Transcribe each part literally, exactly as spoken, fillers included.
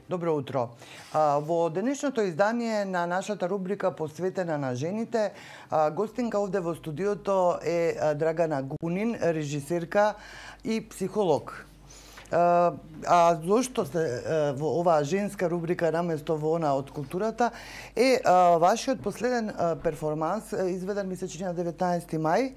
Добро утро. Во денешното издание на нашата рубрика посветена на жените, гостинка овде во студиото е Драгана Гунин, режисерка и психолог. А зошто се во оваа женска рубрика наместо во она од културата е вашиот последен перформанс изведен ми се чини на деветнаесети мај,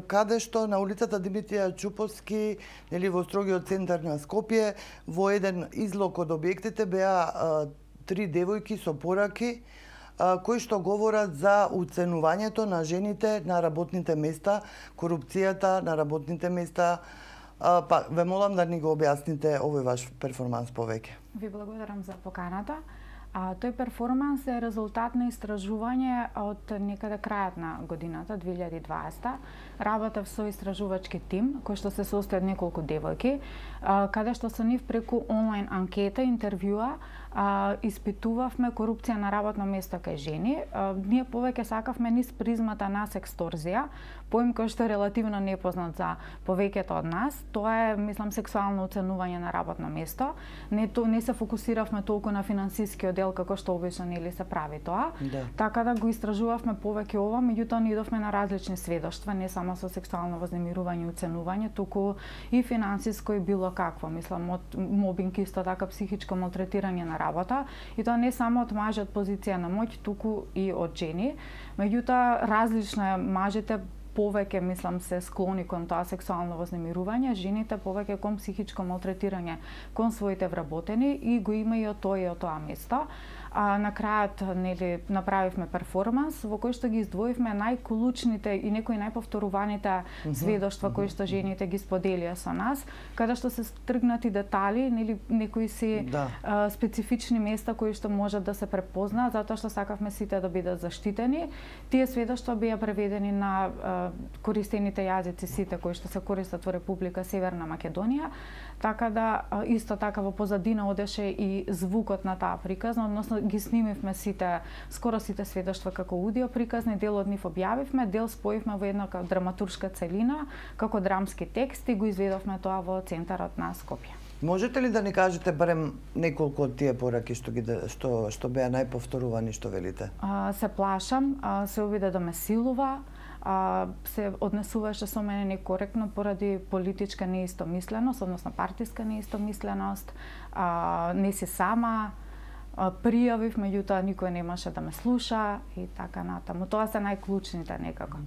каде што на улицата Димитрија Чуповски, нели во строгиот центар на Скопје, во еден излог од објектите беа три девојки со пораки кои што говорат за уценувањето на жените на работните места, корупцијата на работните места. Па, ве молам да ни го објасните овој ваш перформанс повеќе. Ви благодарам за поканата. А, тој перформанс е резултат на истражување од некаде крајот на годината, две илјади и дваесета. Работев со истражувачки тим, кој што се состои од неколку девојки, а, каде што со нив преку онлайн анкета, интервјуа, а, испитувавме корупција на работно место кај жени. А, ние повеќе сакавме низ призмата на сексторзија, поим кој што е релативно непознат за повеќето од нас. Тоа е, мислам, сексуално оценување на работно место. Не, то, не се фокусиравме толку на финансискиот дел како што обично нели се прави тоа. Да. Така да го истражувавме повеќе ова, меѓутоа ни идовме на различни сведоштва, не само со сексуално вознемирување и оценување, туку и финансиско и било какво, мислам, од мобинг, исто така психичко малтретирање на работа, и тоа не само од мажи од позиција на моќ, туку и од жени. Меѓутоа различно е, мажите повеќе, мислам, се склони кон тоа сексуално вознемирување, жените повеќе кон психичко малтретирање кон своите вработени, и го има и од тоа и од тоа место. А на крајот нели направивме перформанс во кој што ги издвоивме најклучните и некои најповторуваните mm -hmm. сведоштва кои што жените ги споделија со нас, каде што се стргнати детали, нели некои си да. а, специфични места кои што можат да се препознаат, затоа што сакавме сите да бидат заштитени. Тие сведоштва беа преведени на а, користените јазици сите кои што се користат во Република Северна Македонија, така да а, исто така во позадина одеше и звукот на таа приказна, односно ги снимивме сите, скоро сите сведоштва како аудио приказни, дел од нив објавивме, дел споивме во една драматуршка целина, како драмски текст, и го изведовме тоа во центарот на Скопје. Можете ли да ни кажете барем неколку од тие пораки што ги што што беа најповторувани, што велите? А, се плашам, а, се обиде да ме силува, а, се однесуваше со мене некоректно поради политичка неистомисленост, односно партиска неистомисленост, а, не си сама, пријавив, меѓутоа никој немаше да ме слуша и така натаму. Тоа се најклучните некако.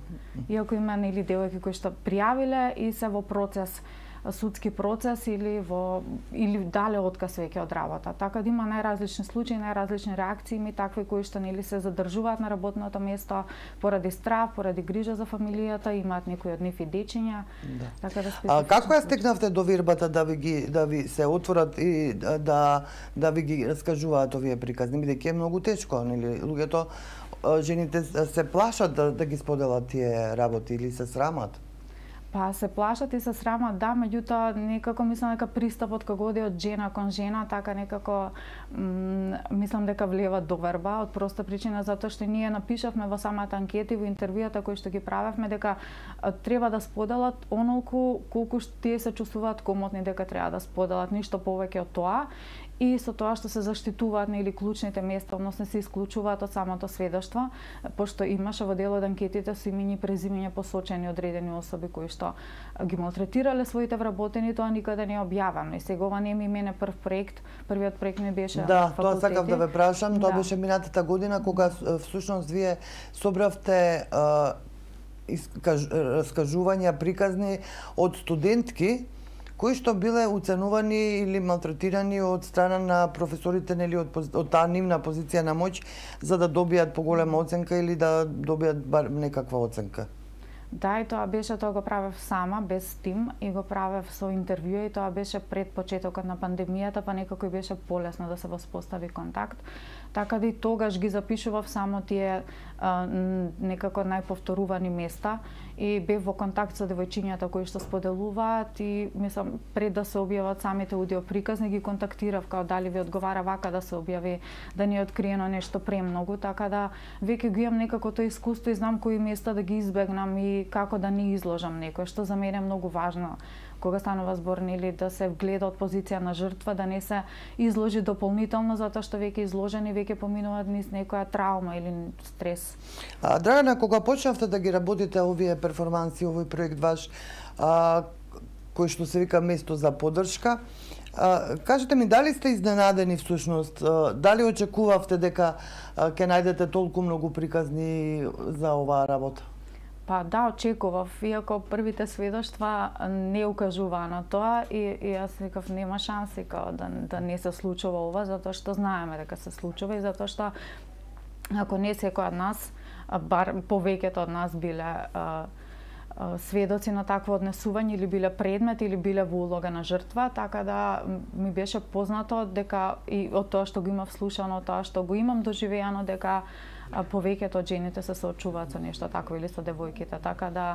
Иако има нели девојки кои што пријавиле и се во процес, судски процес или во или дале отказ веќе од работа. Така да има најразлични случаи, најразлични реакции, ми такви кои што нели се задржуваат на работното место поради страв, поради грижа за фамилијата, имаат некои од нив и дечиња. Да. Така да а како ја стекнавте до вирбата да ви ги да ви се отворат и да да ви ги раскажуваат овие приказни, бидејќи е многу тешко, нели луѓето, жените се плашат да да ги споделат тие работи или се срамат? Па се плашат и се срамат, да, меѓутоа некако мислам дека пристапот кога оди од жена кон жена, така некако мислам дека влева доверба, од проста причина затоа што ние напишавме во самата анкета и во интервјуата кои што ги правевме дека треба да споделат онолку колку што тие се чувствуваат комотни дека треба да споделат, ништо повеќе од тоа. И со тоа што се заштитуваат нели клучните места, односно се исклучуваат од самото сведоштво, пошто имаше во дел од анкетите со имиња и презимиња посочени одредени особи кои што ги малтретирале своите вработени, тоа никаде не е објавено. И сега ова не ми мене прв проект, првиот проект ми беше да, факултети. Тоа сакав да ве прашам, тоа да. беше минатата година кога всушност вие собравте а, искаж, раскажувања приказни од студентки кои што биле уценувани или малтретирани од страна на професорите, нели од, од таа нивна позиција на моќ, за да добијат поголема оценка или да добијат бар некаква оценка. Да, и тоа беше, тоа го правев сама, без тим, и го правев со интервјуа, и тоа беше пред почетокот на пандемијата, па некако беше полесно да се воспостави контакт. Така да и тогаш ги запишував само тие а, некако најповторувани места и бев во контакт со девојчињата кои што споделуваат и мислам пред да се објават самите аудиоприказни ги контактирав као дали ви одговара вака да се објави, да не е откриено нешто премногу, така да веќе го имам некако тоа искуство и знам кои места да ги избегнам и како да не изложам некој, што за мене е многу важно кога станува збор нели да се гледа од позиција на жртва, да не се изложи дополнително затоа што веќе изложени веќе поминуваат низ некоја травма или стрес. А, Драгана, кога почнавте да ги работите овие перформанси, овој проект ваш, а, кој што се вика место за подршка, а, кажете ми, дали сте изненадени всушност, а, дали очекувавте дека а, ќе најдете толку многу приказни за оваа работа? Па да, очекував, иако првите сведоштва не укажуваа на тоа и, и јас викав нема шанси као да, да не се случува ова, затоа што знаеме дека се случува и затоа што ако не секој од нас, бар повеќето од нас биле а, а, сведоци на такво однесување или биле предмет или биле во улога на жртва, така да ми беше познато дека и од тоа што го имав слушано, од тоа што го имам доживеано дека а, повеќето од жените се соочуваат со нешто такво или со девојките, така да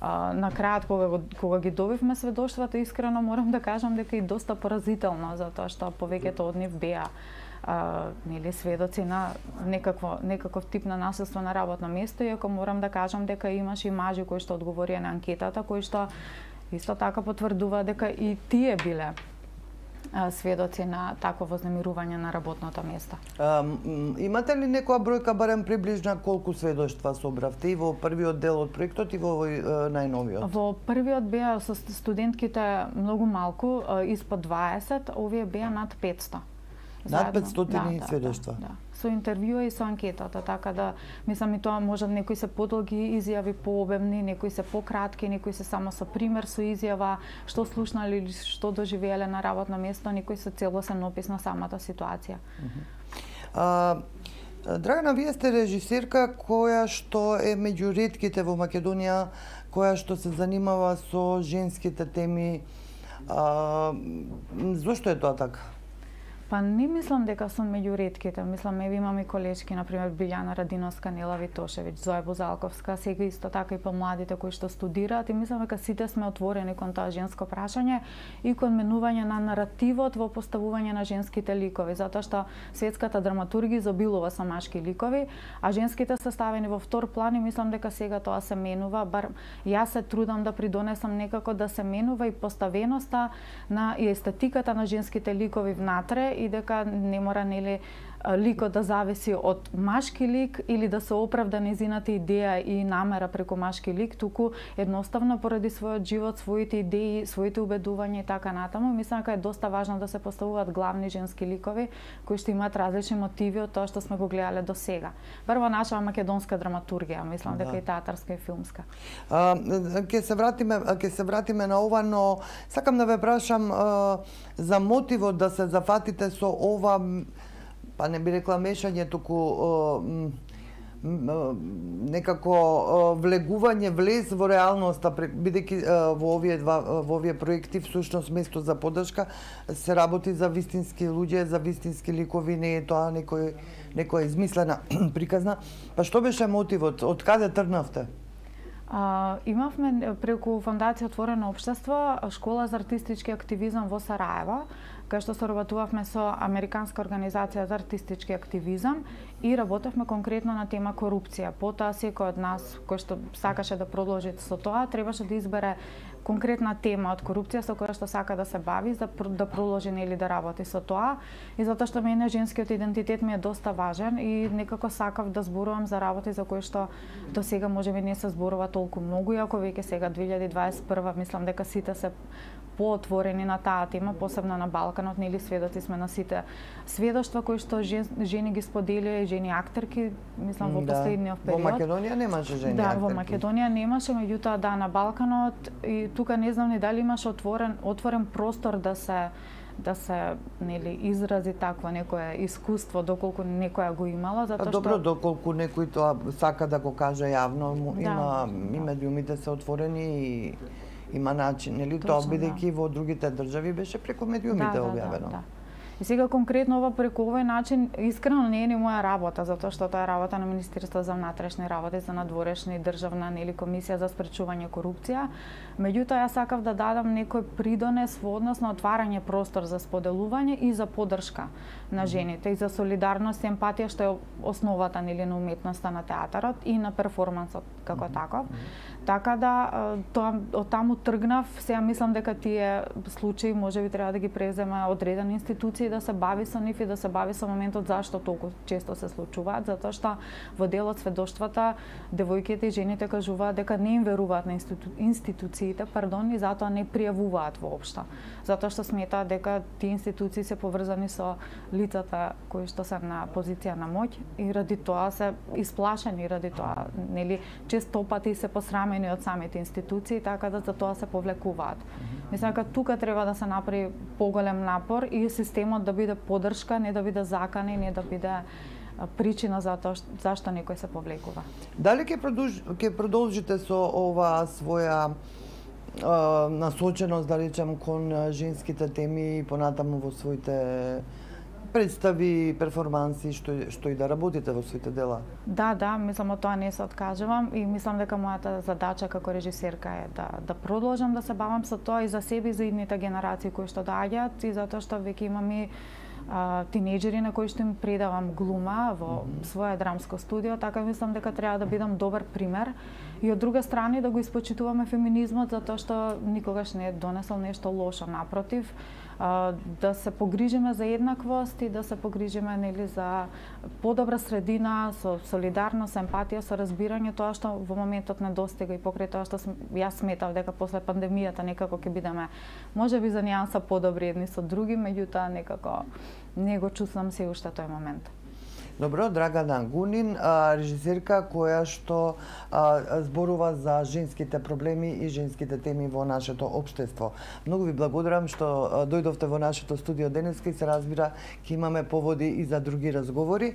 а, на крајот кога кога ги добивме сведоштвата, искрено морам да кажам дека и доста поразително, затоа што повеќето од нив беа а, нели сведоци на некакво некаков тип на насилство на работно место, иако морам да кажам дека имаше и мажи кои што одговорија на анкетата, кои што исто така потврдува дека и тие биле сведоци на такво вознемирување на работното место. А, имате ли некоја бројка барем приближна колку сведоштва собравте и во првиот дел од проектот и во овој најновиот? Во првиот беа со студентките многу малку, испод дваесет, овие беа над петсто. Над петстотини да, сведоштва. Да, да. Со интервјуа и со анкетата, така да мислам и тоа може некои се подолги изјави, пообемни, некои се пократки, некои се само со пример со изјава што слушнале или што доживееле на работно место, некои се целосен опис на самата ситуација. Uh -huh. а, Драгана, вие сте режисерка која што е меѓу ретките во Македонија која што се занимава со женските теми. А, зошто е тоа така? Па не мислам дека сум меѓу ретките. Мислам, еве имам и колешки, например Билјана Радиновска, Нела Витошевиќ, Зоја Бузалковска, сега исто така и помладите кои што студираат, и мислам дека сите сме отворени кон тоа женско прашање и кон менување на наративот во поставување на женските ликови, затоа што светската драматургија изобилува со машки ликови, а женските се ставени во втор план и мислам дека сега тоа се менува, бар јас се трудам да придонесам некако да се менува и поставеноста на и естетиката на женските ликови внатре, и дека не мора нели ликот да зависи од машки лик или да се оправда незината идеја и намера преку машки лик, туку едноставно поради својот живот, своите идеи, своите убедувања и така натаму. Мислам дека е доста важно да се поставуваат главни женски ликови кои што имаат различни мотиви од тоа што сме го гледале до сега. Прво наша македонска драматургија, мислам да. дека и театарска и филмска. А, ќе се вратиме, ќе се вратиме на ова, но сакам да ве прашам а, за мотивот да се зафатите со ова, па не би рекла мешање, туку uh, uh, некако uh, влегување, влез во реалноста, бидејќи uh, во овие два во овие проекти всушност место за подршка се работи за вистински луѓе, за вистински ликови, не е тоа некој некоја измислена приказна. Па што беше мотивот? Од каде тргнавте? А, имавме преку Фондација Отворено општество школа за артистички активизам во Сараево, кај што соработувавме со Американска организација за артистички активизам и работевме конкретно на тема корупција. Потоа секој од нас кој што сакаше да продолжи со тоа требаше да избере конкретна тема од корупција со која што сака да се бави, за да продолжи или да работи со тоа. И затоа што мене женскиот идентитет ми е доста важен и некако сакав да зборувам за работи за кои што до сега можеби не се зборува толку многу, иако веќе сега две илјади дваесет и прва мислам дека сите се поотворени на таа тема, посебно на Балканот, нели сведоци сме на сите сведоштва кои што жен, жени ги споделија и жени актерки, мислам во да. последниот период. Во Македонија немаше жени да, актерки. Да, во Македонија немаше, меѓутоа да на Балканот и тука не знам ни дали имаше отворен отворен простор да се да се нели изрази такво некое искуство доколку некоја го имала, затоа што добро доколку некој тоа сака да го каже јавно, да, има да. и медиумите се отворени и има начин, нели тоа бидејќи да. во другите држави беше преку медиумите да, објавено. Да, да, да. И сега конкретно ова преку овој начин искрено не е ни моја работа, затоа што тоа е работа на Министерството за внатрешни работи, за надворешни државна нели комисија за спречување корупција. Меѓутоа јас сакав да дадам некој придонес во однос на отварање простор за споделување и за поддршка на жените и за солидарност и емпатија, што е основата нели на уметноста на театарот и на перформансот како таков. Така да тоа од таму тргнав, сега мислам дека тие случаи можеби треба да ги преземе одредени институции да се бави со нив и да се бави со моментот зашто толку често се случуваат, затоа што во дел од сведоштвата девојките и жените кажуваат дека не им веруваат на институ... институциите, пардон, и затоа не пријавуваат воопшто. Затоа што сметаат дека тие институции се поврзани со лицата кои што се на позиција на моќ и ради тоа се исплашени, ради тоа нели често пати се посрамени од самите институции, така да за тоа се повлекуваат. Мислам дека тука треба да се направи поголем напор и системот да биде поддршка, не да биде закана, не да биде причина за тоа зашто некој се повлекува. Дали ќе продолж, ќе продолжите со ова своја а, насоченост, да речем, кон женските теми и понатаму во своите представи, перформанси, што, што и да работите во своите дела? Да, да, мислам од тоа не се откажувам и мислам дека мојата задача како режисерка е да, да продолжам да се бавам со тоа и за себе и за идните генерации кои што доаѓаат и затоа што веќе имам и а, тинејџери на кои што им предавам глума во mm -hmm. своје драмско студио, така мислам дека треба да бидам добар пример и од друга страна да го испочитуваме феминизмот затоа што никогаш не е донесол нешто лошо, напротив, да се погрижиме за еднаквост и да се погрижиме нели за подобра средина со солидарност, емпатија, со разбирање, тоа што во моментот недостига и покрај тоа што јас сметав дека после пандемијата некако ќе бидеме можеби за нијанса подобри едни со други, меѓутоа некако не го чувствам се уште тој момент. Добро, Драгана Гунин, режисерка која што зборува за женските проблеми и женските теми во нашето општество. Многу ви благодарам што дојдовте во нашето студио денеска и се разбира ќе имаме поводи и за други разговори.